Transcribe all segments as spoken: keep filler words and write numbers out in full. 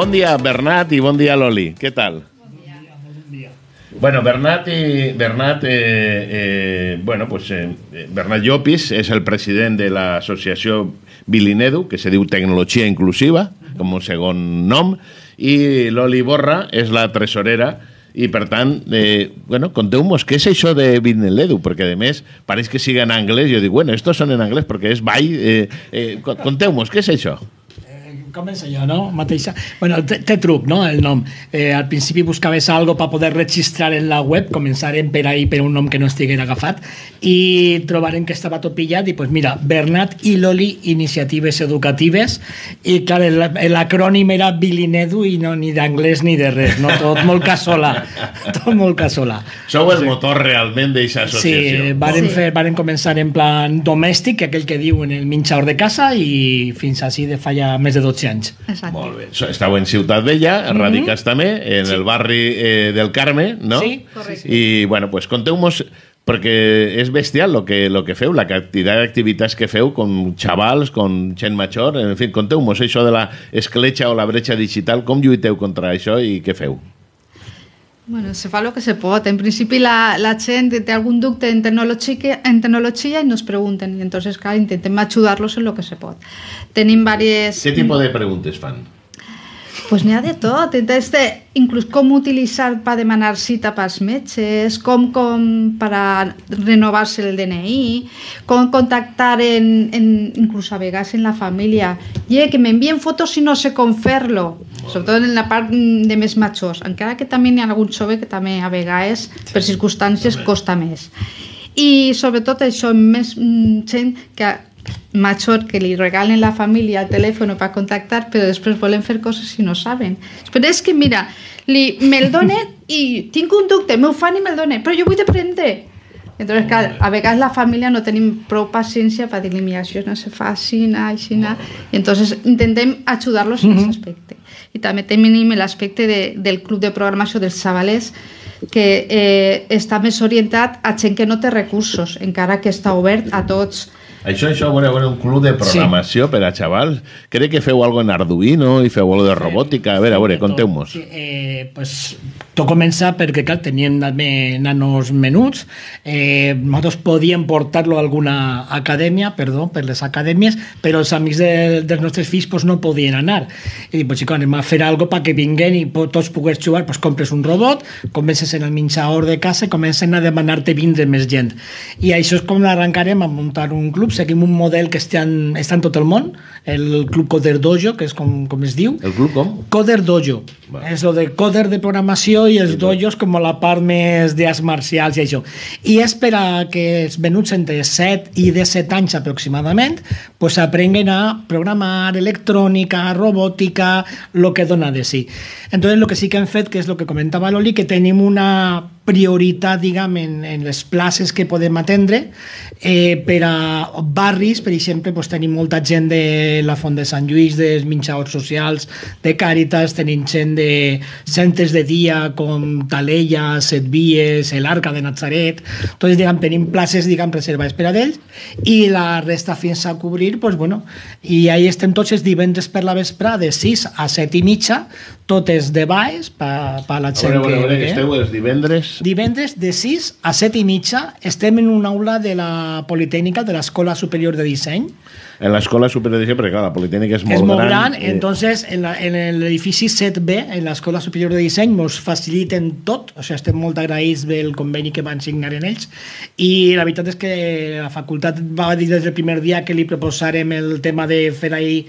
Bon dia, Bernat, i bon dia, Loli. Què tal? Bon dia. Bon dia. Bueno, Bernat, i, Bernat, eh, eh, bueno, pues, eh, Bernat Llopis és el president de l'associació Bilinedu, que se diu Tecnologia Inclusiva, com un segon nom, i Loli Borra és la tresorera, i per tant, eh, bueno, conteu-nos què és això de Bilinedu, perquè a més pareix que siga en anglès, jo dic, bueno, estos són en anglès perquè és ball, eh, eh, conteu-nos, què és això? Comença jo, no? Mateixa. Bueno, té, té truc, no?, el nom. Eh, al principi buscaves algo per poder registrar en la web, començarem per ahí per un nom que no estigués agafat, i trobarem que estava tot pillat, i pues mira, Bernat i Loli Iniciatives Educatives, i clar, l'acrònim era Bilinedu, i no ni d'anglès ni de res, no? Tot molt casolà. Tot molt casolà. Sou el motor realment d'aquesta associació. Sí, varen, fer, varen començar en plan domèstic, aquell que diu en el menjador de casa, i fins així de fa ja més de dotze anys. Exacte. Molt bé. Estàu en Ciutat Vella, radicats mm-hmm. també, en sí. el barri eh, del Carme, no? Sí, correcte. I, bueno, pues conteu-nos, perquè és bestial lo que, lo que feu, la quantitat d'activitats que feu con xavals, con gent major, en fi, conteu-nos això de la escletxa o la bretxa digital, com lluiteu contra això i què feu? Bueno, se fa el que se pot. En principi la, la gent té algun dubte en tecnologia, en tecnologia i nos pregunten, i entonces, clar, intentem ajudar-los en lo que se pot. Tenim diverses... Què tipus de preguntes fan? Pues n'hi ha de tot, des de inclús com utilitzar per demanar cita pels metges, com, com per a renovar-se el D N I, com contactar en, en, inclús a vegades en la família, i que m'envien fotos i no sé com fer-lo, sobretot en la part de més majors, encara que també n'hi ha algun jove que també a vegades per circumstàncies costa més. I sobretot això, més gent que major que li regalen la família el telèfon per contactar, però després volen fer coses i no saben. Però és que, mira, li, me'l donen i tinc un dubte, m'ho fan i me'l donen, però jo vull aprendre. Entonces, clar, a vegades la família no tenim prou paciència per dir-li, mira, això no se fa així, així, i entonces intentem ajudar-los en aquest aspecte. I també tenim l'aspecte de, del club de programació dels xavalers, que eh, està més orientat a gent que no té recursos, encara que està obert a tots. Això, això, bueno, bueno, un club de programació sí. per a xavals. Crec que feu algo en Arduino i feu algo de robòtica. A veure, a veure, conteu-nos. Sí, eh, pues, tot comença perquè, clar, tenien nanos menuts. Eh, nosaltres podíem portar-lo a alguna acadèmia, perdó, per les acadèmies, però els amics de, dels nostres fills pues, no podien anar. I dic, pues, xico, anem a fer alguna cosa perquè vinguen i tots pogués jugar. Pues, compres un robot, comences en el menjador de casa i comencen a demanar-te vindre més gent. I això és com arrencarem a muntar un club. Seguim un model que està en, està en tot el món, el Club Coder Dojo, que és com, com es diu. El club com? Coder Dojo. Va. És el de coder de programació i els sí, dojos com la part més d'arts marcials i això. I és per a que els menuts entre set i disset anys aproximadament pues, aprenguen a programar electrònica, robòtica, el que dona de si. Entonces, el que sí que hem fet, que és el que comentava l'Oli, que tenim una prioritat, diguem, en, en les places que podem atendre eh, per a barris, per exemple, pues, tenim molta gent de la Font de Sant Lluís, dels menjadors socials, de Càritas, tenim gent de centres de dia com Talella, Set Vies, l'Arca de Natzaret. Entonces, diguem, tenim places, diguem, reservades per a ells i la resta fins a cobrir, pues, bueno, i ahí estem tots els divendres per la vesprà de sis a set i mitja, totes de baix per pa la gent a veure, que... A veure, que esteu els divendres... Divendres de sis a set i mitja estem en una aula de la Politècnica de l'Escola Superior de Disseny. En l'Escola Superior de Disseny, perquè clar, la Politècnica és molt, és molt gran. gran eh... Entonces, en, la, en l'edifici set B, en l'Escola Superior de Disseny, ens faciliten tot, o sigui, estem molt agraïts del conveni que van signar en ells, i la veritat és que la facultat va dir des del primer dia que li proposarem el tema de fer ahí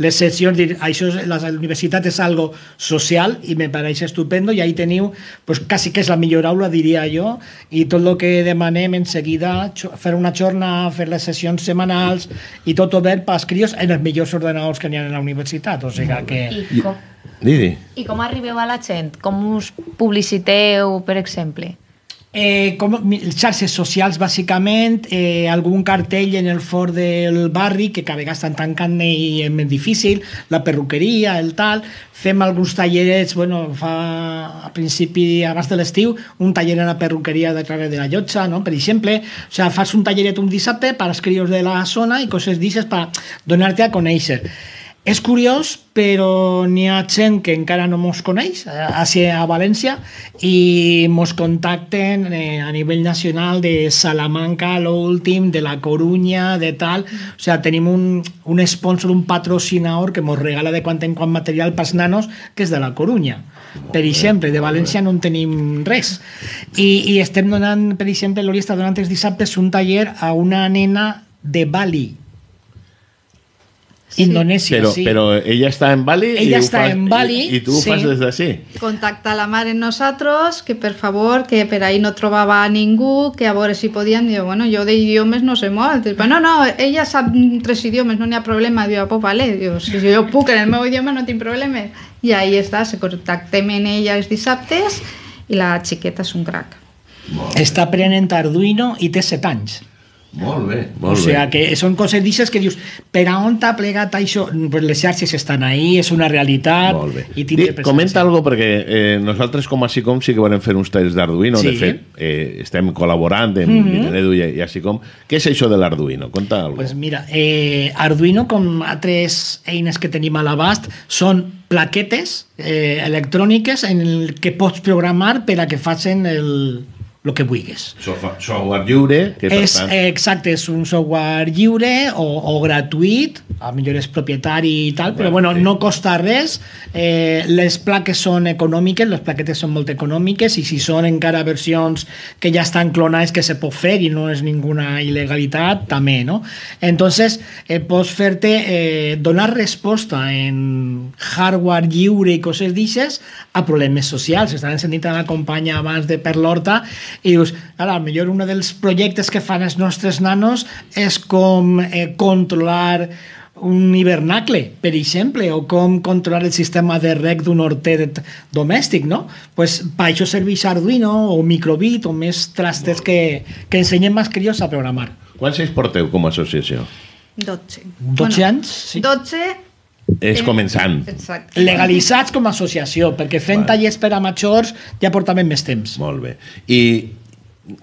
les sessions, dir, això, la universitat és algo social i me pareix estupendo, i ahí teniu, pues, quasi que és la millor aula, diria jo, i tot el que demanem en seguida, fer una jornada, fer les sessions setmanals, i tot obert pels crios en els millors ordenadors que n'hi ha a la universitat, o sigui que... I com, Didi. I com arribeu a la gent? Com us publiciteu, per exemple? Eh, com, xarxes socials, bàsicament, eh, algun cartell en el fort del barri, que cada vegada estan tancant i és més difícil, la perruqueria, el tal, fem alguns tallerets, bueno, fa a principi, abans de l'estiu, un taller en la perruqueria de Clara de la Llotja, no? Per exemple, o sigui, fas un talleret un dissabte per als crios de la zona i coses d'aixes per donar-te a conèixer. És curiós, però n'hi ha gent que encara no mos coneix, a València, i mos contacten eh, a nivell nacional de Salamanca, l'últim, de la Corunya, de tal. O sigui, tenim un, un sponsor, un patrocinador que mos regala de quan en quan material pels nanos, que és de la Corunya. Per exemple, de València no en tenim res. I, i estem donant, per exemple, l'Ori està donant els dissabtes un taller a una nena de Bali, Sí. Indonesia, però, sí. Però ella està en Bali ella i, està fas, en Bali, i, i tu ho sí. fas des d'ací. Contacta la mare en nosaltres, que per favor, que per ahí no trobava a ningú, que a veure si podien, dir, bueno, jo d'idiomes no sé molt. Diu, no, no, ella sap tres idiomes, no n'hi ha problema. Diu, pues vale, diu, si jo puc en el meu idioma no tinc problema. I ahí està, se contactem en ella els dissabtes i la xiqueta és un crac. Està aprenent Arduino i té set anys. Molt bé, molt o sigui bé. que són coses d'aixes que dius, per a on t'ha plegat això? Pues les xarxes estan ahí, és una realitat. Molt bé. I Di, comenta algo perquè eh, nosaltres com a SICOM sí que volem fer uns talls d'Arduino, sí. De fet eh, estem col·laborant amb mm -hmm. Edu i, i a SICOM. Què és això de l'Arduino? Conta algo. Pues mira, eh, Arduino, com altres eines que tenim a l'abast, són plaquetes eh, electròniques en el que pots programar per a que facin el el que vulguis. Software lliure, que per és, tant... exacte, és un software lliure o, o gratuït, a millor és propietari i tal, però bueno, sí. No costa res. Eh, les plaques són econòmiques, les plaquetes són molt econòmiques, i si són encara versions que ja estan clonades que se pot fer i no és ninguna il·legalitat, també, no? Entonces, eh, pots fer-te, eh, donar resposta en hardware lliure i coses d'aixes a problemes socials. Estaven sentint a la companya abans de Per l'Horta i dius, ara, millor un dels projectes que fan els nostres nanos és com eh, controlar un hivernacle, per exemple, o com controlar el sistema de reg d'un horter domèstic, no? Pues, per això serveix Arduino o Microbit o més trastes que, que ensenyen més crios a programar. Quants anys porteu com a associació? dotze. dotze bueno, anys? Sí. dotze... És començant. Exacte. Legalitzats com a associació, perquè fent Vale. tallers per a majors ja portaven més temps. Molt bé. I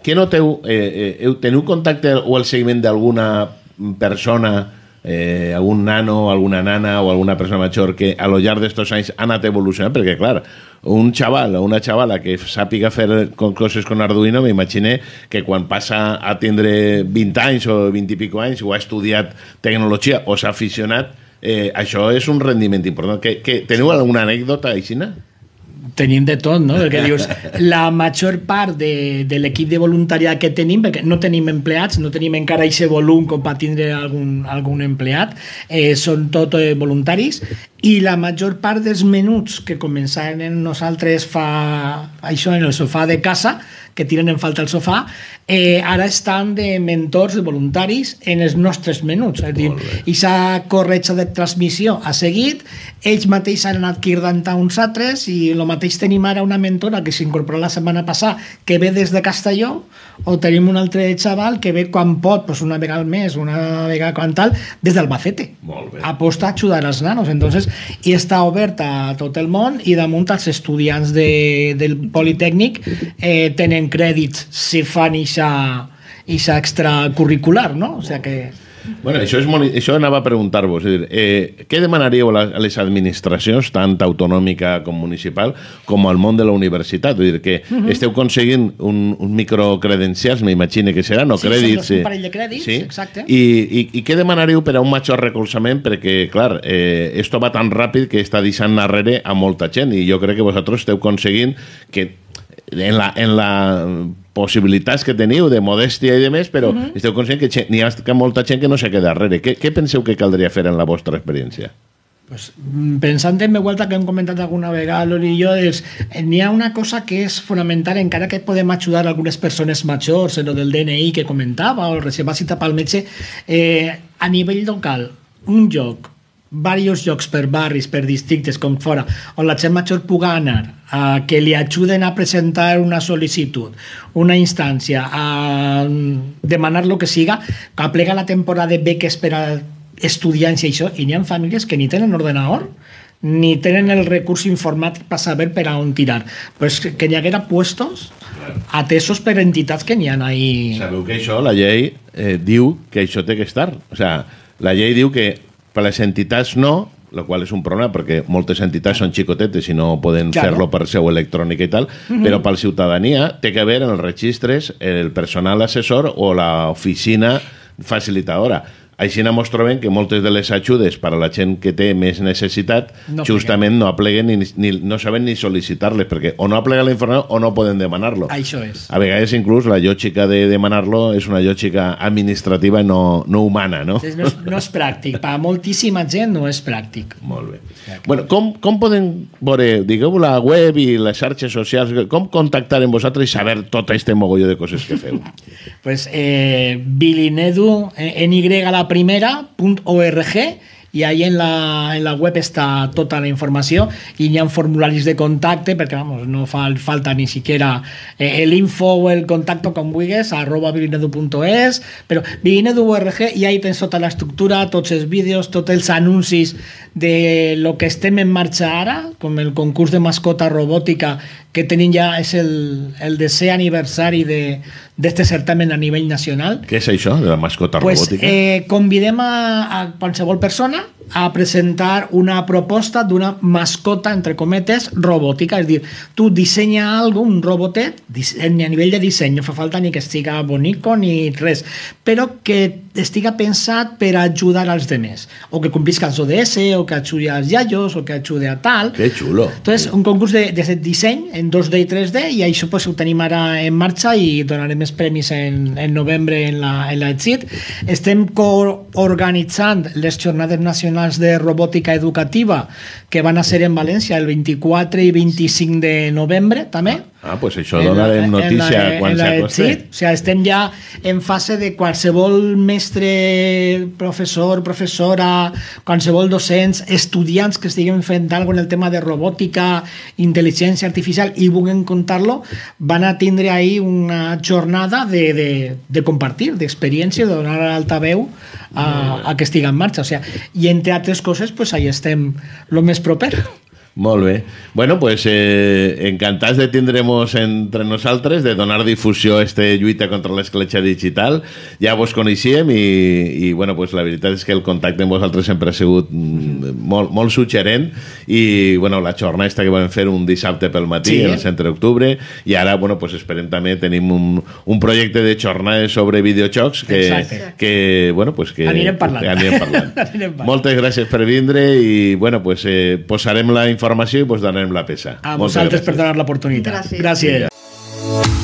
què noteu? Eh, eh, teniu contacte o el seguiment d'alguna persona, eh, algun nano, alguna nana o alguna persona major que a lo llarg d'estos anys ha anat evolucionant? Perquè, clar, un xaval o una xavala que sàpiga fer coses con Arduino, m'imagine que quan passa a tindre vint anys o vint i pico anys o ha estudiat tecnologia o s'ha aficionat, Eh, això és un rendiment important. Que, que, teniu alguna anècdota, Aixina? Tenim de tot, no? Perquè dius, la major part de, de l'equip de voluntariat que tenim, perquè no tenim empleats, no tenim encara aquest volum com per tindre algun, algun empleat, eh, són tot eh, voluntaris, i la major part dels menuts que començaven nosaltres fa això en el sofà de casa, que tiren en falta el sofà, eh, ara estan de mentors, de voluntaris en els nostres menuts. És a dir, aquesta corretja de transmissió ha seguit, ells mateixos han anat cridant a uns altres, i el mateix tenim ara una mentora que s'incorpora la setmana passada, que ve des de Castelló, o tenim un altre xaval que ve quan pot, pues una vegada al mes, una vegada quan tal, des d'Albacete. Aposta a ajudar als nanos. Entonces, i està oberta a tot el món, i damunt els estudiants de, del Politècnic eh, tenen crèdits si fan ixa, ixa extracurricular, no? O sigui que... Bueno, això, és molt, això anava a preguntar-vos. Eh, què demanaríeu a les administracions, tant autonòmica com municipal, com al món de la universitat? Vull dir que uh -huh. esteu aconseguint un, un microcredencials, m'imagine que seran, o sí, crèdits. Sí, un parell de crèdits, sí? exacte. I, i, I què demanaríeu per a un major recolzament? Perquè, clar, eh, esto va tan ràpid que està deixant darrere a molta gent, i jo crec que vosaltres esteu aconseguint que en la, en la possibilitats que teniu de modèstia i de més, però uh -huh. esteu conscient que n'hi ha que molta gent que no se queda darrere. Què, què penseu que caldria fer en la vostra experiència? Pues, pensant en vuelta que hem comentat alguna vegada l'Ori i jo, n'hi ha una cosa que és fonamental, encara que podem ajudar algunes persones majors en el del D N I que comentava, o reservar cita pel metge, eh, a nivell local, un lloc, diversos llocs per barris, per districtes, com fora, on la gent major pugui anar, a que li ajuden a presentar una sol·licitud, una instància, a demanar lo que siga, que aplega la temporada de beques per a estudiants i això, i n'hi ha famílies que ni tenen ordenador, ni tenen el recurs informàtic per saber per a on tirar. Pues que n'hi haguera puestos atesos per entitats que n'hi ha ahí. Sabeu que això, la llei eh, diu que això té que estar. O sigui, la llei diu que per les entitats no, lo qual és un problema perquè moltes entitats són xicotetes i no poden Claro. fer-lo per seu electrònica i tal, Mhm. però per la ciutadania té que haver en els registres el personal assessor o l'oficina facilitadora. Així ens trobem que moltes de les ajudes per a la gent que té més necessitat No justament no apleguen ni, ni, no saben ni sol·licitar-les perquè o no aplega la informació o no poden demanar-lo. Això és. A vegades inclús la lògica de demanar-lo és una lògica administrativa i no, no humana, no? És- No és, no és pràctic. Per a moltíssima gent no és pràctic. Molt bé. Bueno, com, com podem veure, digueu, la web i les xarxes socials, com contactar amb vosaltres i saber tot este mogolló de coses que feu? Pues eh, Bilinedu, eh, en Y la primera, punto org, i ahí en la, en la web està tota la informació i hi ha formularis de contacte perquè vamos, no fa falta ni siquiera eh, el info o el contacto com vulguis arroba bilinedu punto es, però bilinedu punto org i ahí tens tota l'estructura, tots els vídeos, tots els anuncis de lo que estem en marxa ara, com el concurs de mascota robòtica que tenim ja, és el, el desè aniversari de d'este certamen a nivell nacional. Què és això, de la mascota Pues, robòtica? eh, convidem a, a qualsevol persona a presentar una proposta d'una mascota, entre cometes, robòtica. És a dir, tu dissenya algo, un robotet, disseny, a nivell de disseny, no fa falta ni que estiga bonico ni res, però que estiga pensat per ajudar als demés, o que complisca els O D S, o que ajudi als iaios, o que ajudi a tal. Que xulo. Entonces, un concurs de, de disseny en dos D i tres D, i això pues, ho tenim ara en marxa i donarem més premis en, en novembre en la, en la EXIT. Estem coorganitzant les jornades nacionals de robòtica educativa que van a ser en València el vint-i-quatre i vint-i-cinc de novembre també. Ah, pues això donarem notícia en la, quan en la s'acoste. EXIT. O sigui, estem ja en fase de qualsevol mestre, professor, professora, qualsevol docents, estudiants que estiguin fent alguna cosa en el tema de robòtica, intel·ligència artificial i vulguin contar-lo, van a tindre ahí una jornada de, de, de compartir, d'experiència, de donar altaveu a, a que estigui en marxa. O sigui, i entre altres coses, pues, ahí estem lo més proper. Molt bé. Bueno, pues eh, encantats de tindremos entre nosaltres, de donar difusió a este lluita contra l'escletxa digital. Ja vos coneixíem i, i bueno, pues la veritat és que el contacte amb vosaltres sempre ha sigut mm, molt, molt suggerent i bueno, la jornada esta que vam fer un dissabte pel matí, Sí. en el centre d'octubre, i ara bueno, pues esperem també, tenim un, un projecte de jornades sobre videojocs que, Exacte. que, bueno, pues que, Anirem parlant. que anirem parlant. Anirem parlant. Moltes gràcies per vindre i bueno, pues, eh, posarem la informació i vos donarem la peça. A Moltes vosaltres gràcies. per donar l'oportunitat. Gràcies. Gràcies. Vinga.